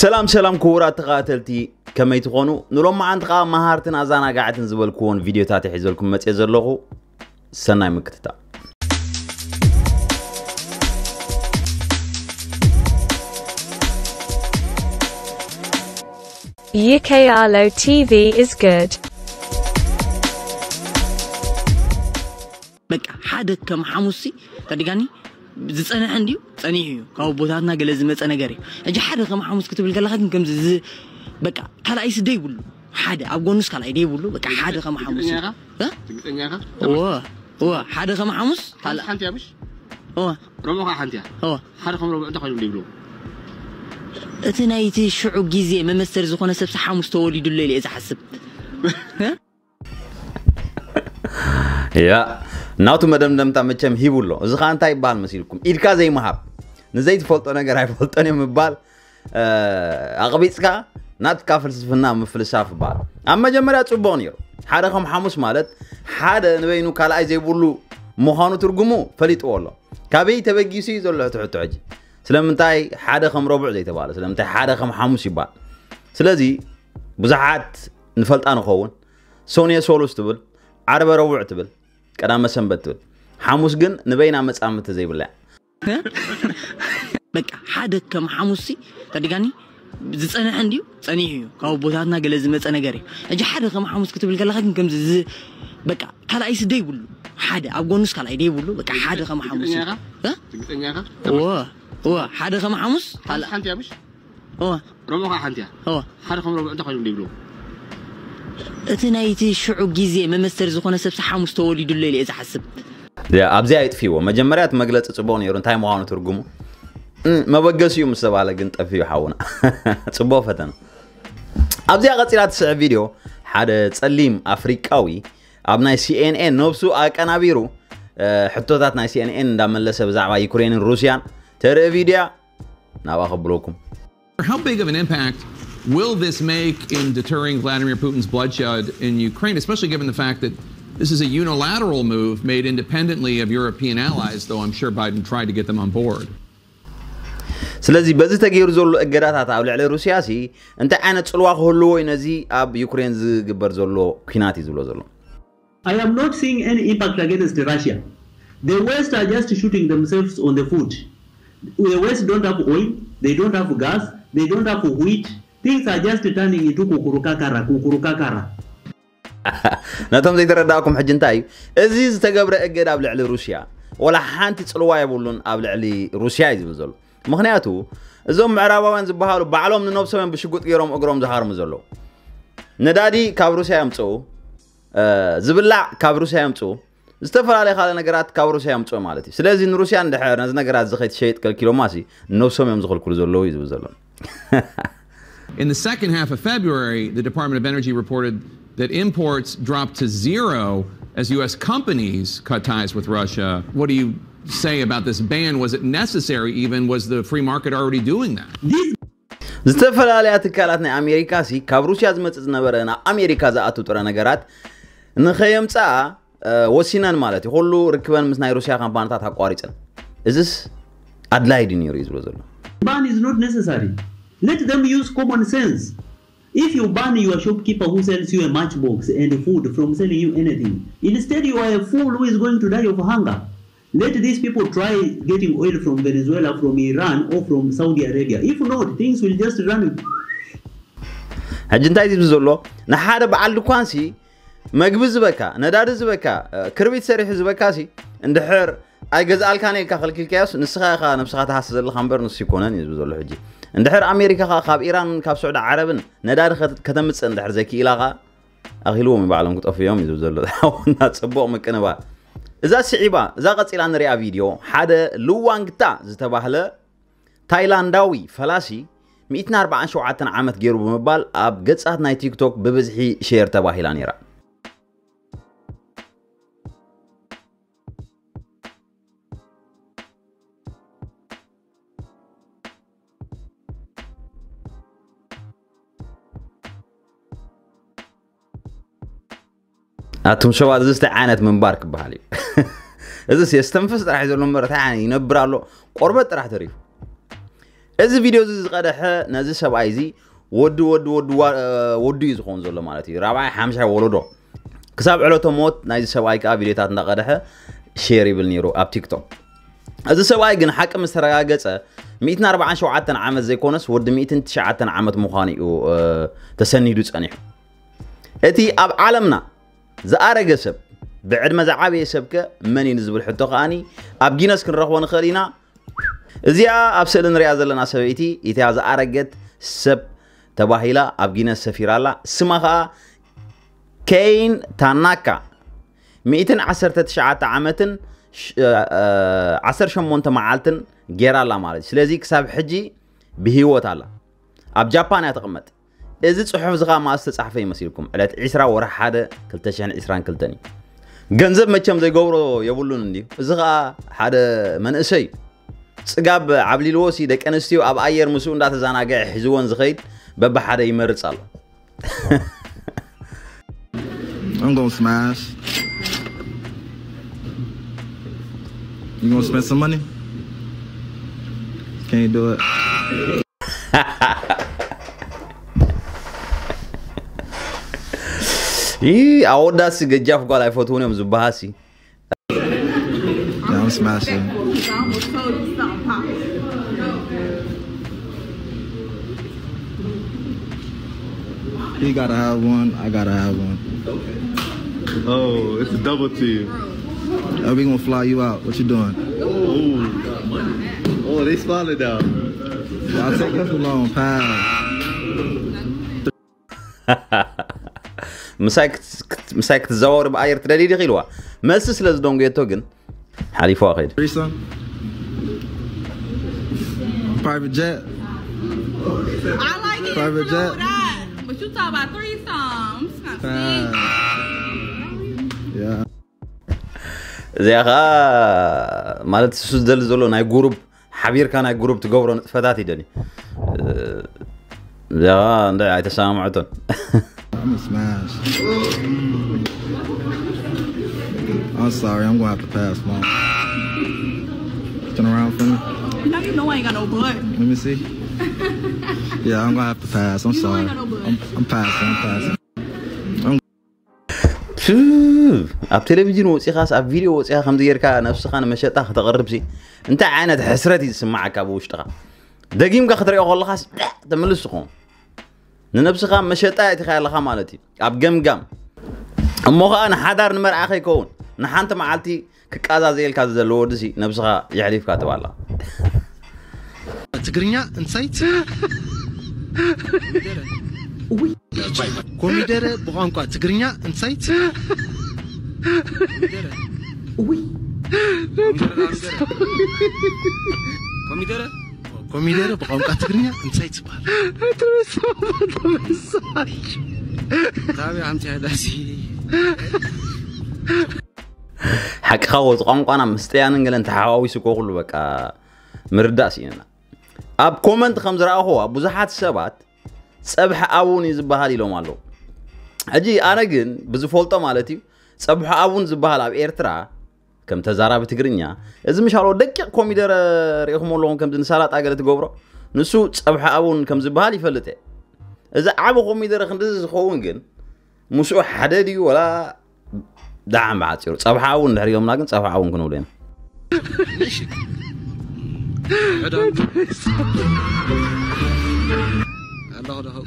ሰላም ሰላም ክቡራት ተኸታተልቲ፣ ከመይ ትኾኑ? ንሎማዓንቲ ከዓ መሃርትን ኣዘናጋዕትን ዝበልክዎን ቪድዮታት ሒዘልኩም መፅየ ዘለኹ። ሰናይ ምክትታል። U K R L O T V is good. በቃ ሓደ ከም ሓሙስ ሲ ተደጋኒ ዝጸንሐ እንድዩ፣ ጸኒሑ እዩ። ካብ ኣቦታትና ገለ ዝመጸ ነገር እዩ። ሕጂ ሓደ ከም ሓሙስ ክትብል ከለኻ ግን ከምዚ ዝ- በቃ ካልኣይ ሲ ደይብሉ፣ ሓደ ኣብ ጎኑስ ካልኣይ ደይብሉ። በቃ ሓደ ከም ሓሙስ እዩ። ትግርኛ ኢኻ? እ? ትግርኛ ኢኻ? እወ እወ ሓደ ከም ሓሙስ ካልኣ- ሓንቲ እያ ምሽ? እወ ረብዑ ከዓ ሓንቲ እያ። እወ ሓደ ከም ረብዑ እንታይ ኮይኖም ደይብሉ? እቲ ናይቲ ሽዑ ግዜ መመሰል ዝኾነ ሰብ ሓሙስ ተወሊዱሎ ኢለ እየ ዝሓስብ። ያ ናቱ መደምደምታ መቸም ሂቡ ኣሎ። እዚ ከዓ እንታይ ይበሃል መሲልኩም? ኢድካ ዘይምሃብ፣ ንዘይትፈልጦ ነገር ኣይፈልጦን እዮም ምባል፣ እ፣ ኣቕቢፅካ ናትካ ፍልስፍና ምፍልሳፍ ይበሃል። ኣብ መጀመርያ ፅቡቕ ነይሩ። ሓደ ከም ሓሙስ ማለት ሓደ ንበይኑ ካልኣይ ዘይብሉ ምዃኑ ትርጉሙ ፈሊጥዎ ኣሎ። ካበይ ተበጊሱ እዩ ዘሎ እቲ ሕቶ ሕጂ? ስለምንታይ ሓደ ከም ረቡዕ ዘይተባለ? ስለምንታይ ሓደ ከም ሓሙስ ይበሃል? ስለዚ ብዙሓት ንፈልጣ ንኸውን። ሶንየ ሶሉስ ትብል፣ ዓርበ ረቡዕ ትብል፣ ቀዳመ ሰንበት ትብል። ሓሙስ ግን ንበይና መጻምድቲ ዘይብላ እያ። በቃ ሓደ ከም ሓሙስ ሲ ተደጋኒ ዝጸንሐ እንድዩ፣ ጸኒሑ እዩ። ካብ ኣቦታትና ገለ ዝመጸ ነገር እዩ። ሕጂ ሓደ ከም ሓሙስ ክትብል ከለኻ ግን ከምዚ ዝ- በቃ ካልኣይ ሲ ደይብሉ፣ ሓደ ኣብ ጎኑስ ካልኣይ ደይብሉ። በቃ ሓደ ከም ሓሙስ እዩ። ትግርኛ ኢኻ? እ? ትግርኛ ኢኻ? እወ እወ ሓደ ከም ሓሙስ ካልኣ- ሓንቲ እያ ምሽ? እወ ረብዑ ከዓ ሓንቲ እያ። እወ ሓደ ከም ረብዑ እንታይ ኮይኖም ደይብሉ? እቲ ናይቲ ሽዑ ግዜ መመሰል ዝኾነ ሰብ ሓሙስ ተወሊዱሎ ኢለ እየ ዝሓስብ። ያ፣ ኣብዚኣ ይጥፍዎ። መጀመርያ እቲ መግለፂ ፅቡቕ ነይሩ፣ እንታይ ምዃኑ ትርጉሙ? እ፣ መበገሲኡ ምስ ተባለ ግን ጠፊኡ ሓውና። ፅቡቕ ፈተና። ኣብዚኣ ቀፂላ ትስዕብ ቪድዮ ሓደ ፀሊም ኣፍሪቃዊ ኣብ ናይ ሲ ኤን ኤን ነብሱ ኣቀናቢሩ፣ እ፣ ሕቶታት ናይ ሲ ኤን ኤን እንዳመለሰ ብዛዕባ ዩክሬንን ሩስያን ተርኢ ቪድያ ናብኣ ከብለኩም። How big of an impact will this make in deterring Vladimir Putin's bloodshed in Ukraine, especially given the fact that this is a unilateral move made independently of European allies, though I'm sure Biden tried to get them on board? ስለዚ በዚ ተገይሩ ዘሎ እገዳታት ኣብ ልዕሊ ሩስያ ሲ እንታይ ዓይነት ጽልዋ ክህልዎ እዩ ነዚ ኣብ ዩክሬን ዝግበር ዘሎ ኲናት እዩ ዝብሎ ዘሎ? I am not seeing any impact against Russia. The West are just shooting themselves on the foot. The West don't have oil, they don't have gas, they don't have wheat. Things are just turning into kukurukakara, kukurukakara. ነቶም ዘይተረዳእኩም ሕጂ እንታይ እዩ እዚ ዝተገብረ እገዳ ኣብ ልዕሊ ሩስያ? ወላ ሓንቲ ጽልዋ የብሉን ኣብ ልዕሊ ሩስያ እዩ ዝብል ዘሎ። ምኽንያቱ እዞም ምዕራባውያን ዝበሃሉ ባዕሎም ንነብሶም እዮም ብሽጉጥ ገይሮም እግሮም ዝሃርሙ ዘለዉ። ነዳዲ ካብ ሩስያ የምፅኡ፣ እ፣ ዝብላዕ ካብ ሩስያ የምፅኡ፣ ዝተፈላለዩ ካልእ ነገራት ካብ ሩስያ የምፅኡ ማለት እዩ። ስለዚ ንሩስያ እንድሕር ነዚ ነገራት እዚ ከይትሸይጥ ከልኪሎማ ሲ ነብሶም እዮም ዝኽልክሉ ዘለዉ እዩ ዝብል ዘሎ። In the second half of February, the Department of Energy reported that imports dropped to zero as U S companies cut ties with Russia. What do you say about this ban? Was it necessary even? Was the free market already doing that? This ዝተፈላለያ ትካላት ናይ ኣሜሪካ ሲ ካብ ሩስያ ዝመፅእ ዝነበረ ናብ ኣሜሪካ ዝኣቱ ጥረ ነገራት ንኸየምፅኣ፣ እ፣ ወሲነን ማለት እዩ። ኩሉ ርክበን ምስ ናይ ሩስያ ካምፓኒታት ኣቋሪፀን። እዚስ ኣድላይ ድዩ ነይሩ እዩ ዝብሎ ዘሎ። ban is not necessary. Let them use common sense. If you ban your shopkeeper who sells you a matchbox and food from selling you anything, instead you are a fool who is going to die of hunger. Let these people try getting oil from Venezuela, from Iran, or from Saudi Arabia. If not, things will just run. ሕጂ እንታይ ዝብል ዘሎ? ንሓደ በዓል ድኳን ሲ መግቢ ዝበካ፣ ነዳዲ ዝበካ፣ እ፣ ክርቢት ሰሪሑ ዝበካ ሲ እንድሕር ኣይገዝኣልካን ኢልካ ከልኪልካዮስ ንስኻ ኢኻ ነብስኻ ትሃሲ ዘለኻ እምበር ንሱ ይኮነን እዩ ዝብል ዘሎ። ሕጂ እንድሕር ኣሜሪካ ኸኣ ካብ ኢራን ካብ ስዑዲ ዓረብን ነዳዲ ከተ- ከተምፅእ እንድሕር ዘይክኢላ ኸኣ ኣኺልዎም እዩ፣ ባዕሎም ክጠፍኡ እዮም እዩ ዝብል ዘሎ። ሓውና ጽቡቕ ምቅንባር። እዛ ስዒባ እዛ ቀጺላ ንሪኣ ቪድዮ ሓደ ሉዋንግታ ዝተባህለ ታይላንዳዊ ፈላሲ ሚእትን ኣርባዓን ሸውዓተን ዓመት ገይሩ ብምባል ኣብ ገጻት ናይ ቲክቶክ ብብዝሒ ሼር ተባሂላ ነይራ። ኣቱም ሰባት እዚስ እንታይ ዓይነት ምንባር ክበሃል እዩ? እዚስ የስተንፍስ ጥራሕ እዩ ዘሎ እምበር እንታይ ዓይነት ይነብር ኣሎ? ቆርበት ጥራሕ ተሪፉ። እዚ ቪድዮ እዚ ዝቐደሐ ነዚ ሰብኣይ እዚ ወዲ ወዲ ወዲ ዋ- ወዱ እዩ ዝኸውን ዘሎ ማለት እዩ። ራብዓይ ሓምሻይ ወለዶ ክሳብ ዕለቶ ሞት ናይዚ ሰብኣይ ከዓ ቪድዮታት እንዳቐደሐ ሼር ይብል ነይሩ ኣብ ቲክቶክ። እዚ ሰብኣይ ግን ሓቂ ምስ ተረጋገፀ ሚእትን ኣርባዓን ሸውዓተን ዓመት ዘይኮነስ ወዲ ሚእትን ትሽዓተን ዓመት ምዃኑ እዩ ተሰኒዱ ፀኒሑ። እቲ ኣብ ዓለምና ዝኣረገ ሰብ ብዕድመ ዝዓበየ ሰብከ መን እዩ ንዝብል ሕቶ ከዓኒ ኣብ ጊነስ ክንረኽቦ ንኽእል ኢና። እዚኣ ኣብ ስእሊ ንሪኣ ዘለና ሰበይቲ እቲኣ ዝኣረገት ሰብ ተባሂላ ኣብ ጊነስ ሰፊራ ኣላ። ስማ ኸዓ ኬይን ታናካ ሚእትን ዓሰርተ ትሽዓተ ዓመትን ዓሰርተ ሸሞንተ መዓልትን ጌራ ኣላ ማለት እዩ። ስለዚ ክሳብ ሕጂ ብህይወት ኣላ። ኣብ ጃፓን እያ ትቕመጥ። እዚ ጽሑፍ እዚ ኸዓ መኣስ ተጻሕፈ ይመስልኩም? ዕለት ዕስራ ወርሒ ሓደ ክልተ ሽሕን ዕስራን ክልተን እዩ። ገንዘብ መቸም ዘይገብሮ የብሉን እንድዩ። እዚ ኸዓ ሓደ መንእሰይ እዩ። ጽጋብ ዓብሊልዎ ሲ ደቂ ኣንስትዮ ኣብ ኣየር ምስኡ እንዳተዘናግዐ ሒዝወን ዝኸይድ በብሓደ ይመርጽ ኣሎ። I'm gonna smash. You gonna spend some money? Can't do it. ይህ አወዳሲ ገጃፍ ጓል አይፎትሁን እዮም ዝበሃሲ Yeah, I'm smashing. He gotta have one. I gotta have one. Oh, it's a double team. Oh, we gonna fly you out. What you doing? Oh, they spotted now. Y'all take too long. Pass. ምሳይ ክትዘዋወር ብኣየር ትደሊ ዲኺ ኢልዋ። መልሲ ስለ ዝደንጎየቶ ግን ሓሊፍዋ ከይዱ። Threesome. Private jet. I like it. Private Private jet. That. But you talk about threesomes. Pass. Yeah. እዚኣ ከዓ ማለት እሱ ዝደሊ ዘሎ ናይ ጉሩብ ሓቢርካ ናይ ጉሩብ ትገብሮ ንጥፈታት ይደሊ። እዚኣ ከዓ እንደ ኣይተሰማምዐቶን። I'm a smash. I'm sorry, I'm gonna have to pass, mom. Turn around for me. Now you know I ain't got no butt. Let me see. Yeah, I'm gonna have to pass. I'm You know I sorry. ain't got no butt. I'm, I'm passing. I'm passing. ፕ፣ ኣብ ቴሌቪዥን ወፂኻስ ኣብ ቪድዮ ወፂኻ ከምዚ ጌርካ ነብስኻ ንመሸጣ ከተቕርብሲ እንታይ ዓይነት ሕስረት እዩ ዝስማዓካ ብውሽጥኻ? ደጊምካ ክትሪኦ ከለኻስ ዳዕ ተምልስ ትኸውን። ንነብስኻ መሸጣ የእቲኻ ኣለኻ ማለት እዩ። ኣብ ገምጋም እሞ ኸዓ ንሓዳር ንመርዓ ከይከውን ንሓንቲ መዓልቲ ክቃዛዘየልካ ዘሎ ወዲ ሲ ነብስኻ የሕሊፍካ ትባላ። ትግርኛ እንታይ ትብል? ኮሚደረ ብቋንቋ ትግርኛ እንታይ ትብል? ኮሚደረ ኮሚደረ ብቋንቋ ትግርኛ እንታይ ትበሃል? ታበይ ኣምፅያ ዳሲ ሓቅኻ ወዚ ቋንቋና ምስ ጥያንን ገለን ተሓዋዊሱ እኮ ኩሉ በቃ ምርዳእ ስኢንና። ኣብ ኮመንት ከም ዝረኣኹዋ ብዙሓት ሰባት ፀብሒ ኣቡን እዩ ዝበሃል ኢሎም ኣለዉ። ሕጂ ኣነ ግን ብዝፈልጦ ማለት እዩ ፀብሒ ኣቡን ዝበሃል ኣብ ኤርትራ ከም ተዛራቢ ትግርኛ እዚ ምሻሎ ደቂቕ ኮሚደረ ርኢኹም ኣለኹም ከምዚ ንሳላጣ ገለ ትገብሮ ንሱ ፀብሒ ኣቡን ከም ዝበሃል ይፈልጥ እየ። እዚ ዓቢ ኮሚደረ ክንድዚ ዝኸውን ግን ምስኡ ሓደ ድዩ ወላ ደሓን ብሓፂሩ ፀብሓ እውን እንድሕር ኢሎምና ግን ፀብሓ እውን ክንብሉ ኢና። ኣለኻ ዶ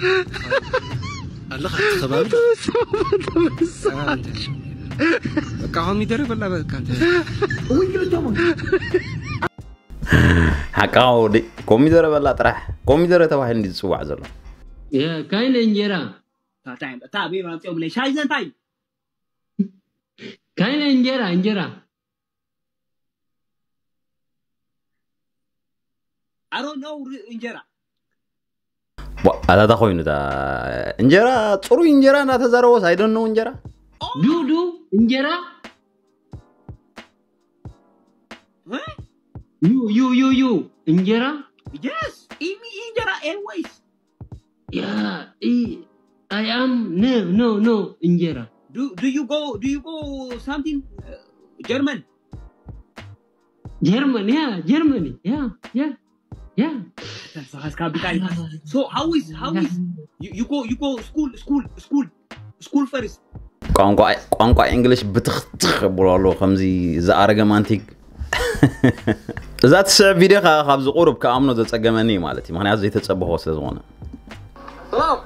ኣለኻ እቲ ከባቢ ዶ? በቃ ኮሚደረ በላ በቃ እንተ ሓቃ ወዲ ኮሚደረ በላ ጥራሕ ኮሚደረ ተባሂሉ እንዲ ዝፅዋዕ ዘሎ የካይነ እንጀራ እንታይ እንታይ ኣበይ ኣምፅኦም ለይ ሻይ ዘንታይ ካይነ እንጀራ እንጀራ I don't know እንጀራ ኣታታ ኮይኑ እንጀራ ፅሩይ እንጀራ እናተዛረቦስ I don't know እንጀራ ዱዱ እንጀራ ዩ ዩ ዩ ዩ እንጀራ yes ኢሚ እንጀራ always yeah I am no no no እንጀራ do do you go do you go something German German yeah Germany yeah yeah yeah ተሳኻስካ ቢካ so how is how is you, you go you go school school school school first ቋንቋ ቋንቋ እንግሊሽ ብትኽትኽ ብሎ ኣሎ ከምዚ ዝኣረገ ማንቲግ እዛ ትስዕብ ቪድዮ ካብ ዝቁርብ ክኣምኖ ዘፀገመኒ ማለት እዩ ምክንያቱ ዘይተፀበኾ ስለ ዝኾነ ሰላም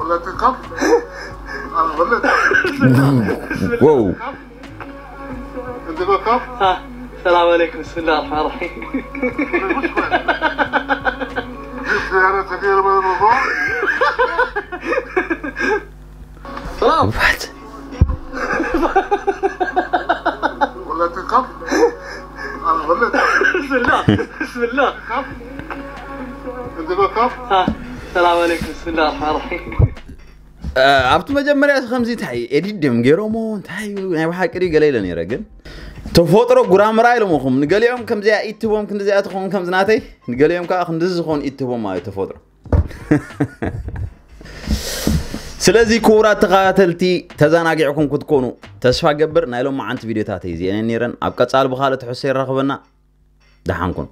ولا تنكب انا ظليت wow انت بكب ሰላም عليكم بسم الله الرحمن الرحيم مش كويس جبت سيارة كبيرة من الموضوع ሰላም what ولا تنكب انا ظليت بسم الله بسم الله انت بكب ሰላም عليكم بسم الله الرحمن الرحيم ኣብቲ መጀመርያ ከምዚ እንታይ ኤዲት ድም ገይሮሞ እንታይ እዩ ናይ ብሓቂ ድዩ ገለ ኢለ ነይረ ግን ተፈጥሮ ጉራምራ ኢሎምኹም ንገሊኦም ከምዚኣ ኢትቦም ክንዲዚኣ ትኸውን ከምዚ ናተይ ንገሊኦም ከዓ ክንዲዚ ዝኾኑ ኢትቦም ማለት ተፈጥሮ ስለዚ ክቡራት ተኸታተልቲ ተዘናጊዕኩም ክትኮኑ ተስፋ ገብር ናይ ሎም መዓንቲ ቪድዮታት እዩ ዚአን ነይረን ኣብ ቀፃሊ ብካልእ ትሕሶ ይራኽበና ደሓንኩን